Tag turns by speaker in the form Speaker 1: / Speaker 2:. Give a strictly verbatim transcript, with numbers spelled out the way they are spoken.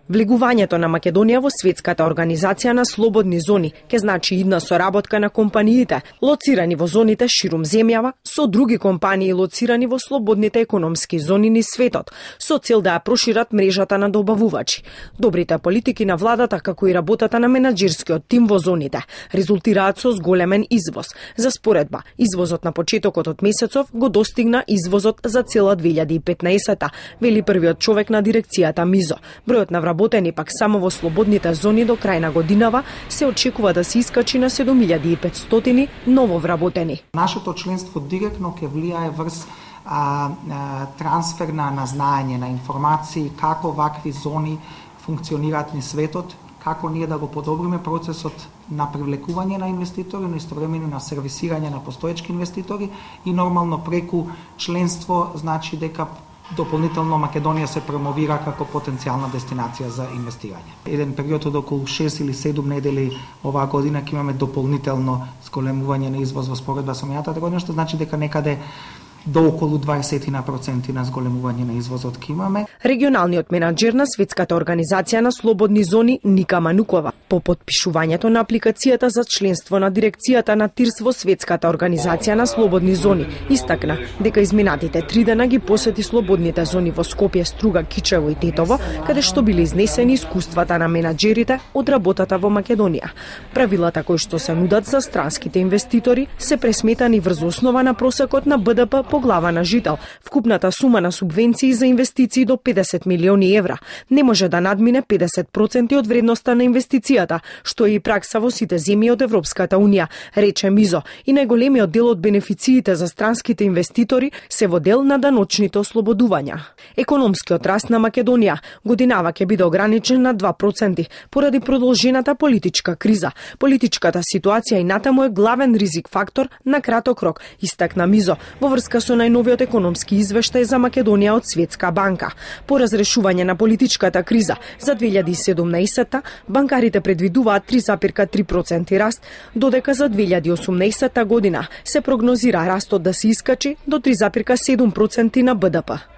Speaker 1: Влегувањето на Македонија во светската организација на слободни зони ќе значи идна соработка на компаниите лоцирани во зоните ширум земјава со други компании лоцирани во слободните економски зони низ светот, со цел да ја прошират мрежата на добавувачи. Добрите политики на владата, како и работата на менаџерскиот тим во зоните, резултираат со зголемен извоз. За споредба, извозот на почетокот од месецов го достигна извозот за цела две илјади и петнаесетта, вели првиот човек на дирекцијата МИЗО. Бројот на вработени пак само во слободните зони до крај на годинава се очекува да се искачи на седум илјади и петстотини ново вработени.
Speaker 2: Нашето членство директно ќе влијае врз а, а, трансфер на, на знаење, на информации, како вакви зони функционираат низ светот, како ние да го подобриме процесот на привлекување на инвеститори, но истовремено на сервисирање на постоечки инвеститори и нормално преку членство значи дека дополнително Македонија се промовира како потенцијална дестинација за инвестирање. Еден период од околу шест или седум недели оваа година ќе имаме дополнително зголемување на извоз во споредба со минатата година, што значи дека некаде до околу дваесет проценти на зголемување на извозот ки имаме.
Speaker 1: Регионалниот менаџер на светската организација на слободни зони Ника Манукова по потпишувањето на апликацијата за членство на дирекцијата на ТИРС во светската организација на слободни зони истакна дека изминатите три дена ги посети слободните зони во Скопје, Струга, Кичево и Тетово, каде што биле изнесени искуствата на менаџерите од работата во Македонија. Правилата кои што се нудат за странските инвеститори се пресметани врз основа на просекот на Б Д П по глава на жител. Вкупната сума на субвенции за инвестиции до педесет милиони евра не може да надмине педесет проценти од вредноста на инвестицијата, што е и пракса во сите земји од Европската унија, рече МИЗО, и најголемиот дел од бенефициите за странските инвеститори се во дел на даночните ослободувања. Економскиот раст на Македонија годинава ќе биде ограничен на два проценти поради продолжената политичка криза. Политичката ситуација и натаму е главен ризик фактор на краток рок, истакна МИЗО во врска со најновиот економски извештај за Македонија од Светска банка. По разрешување на политичката криза за две илјади и седумнаесетта, банкарите предвидуваат три зарез три проценти раст, додека за две илјади и осумнаесетта година се прогнозира растот да се искачи до три зарез седум проценти на Б Д П.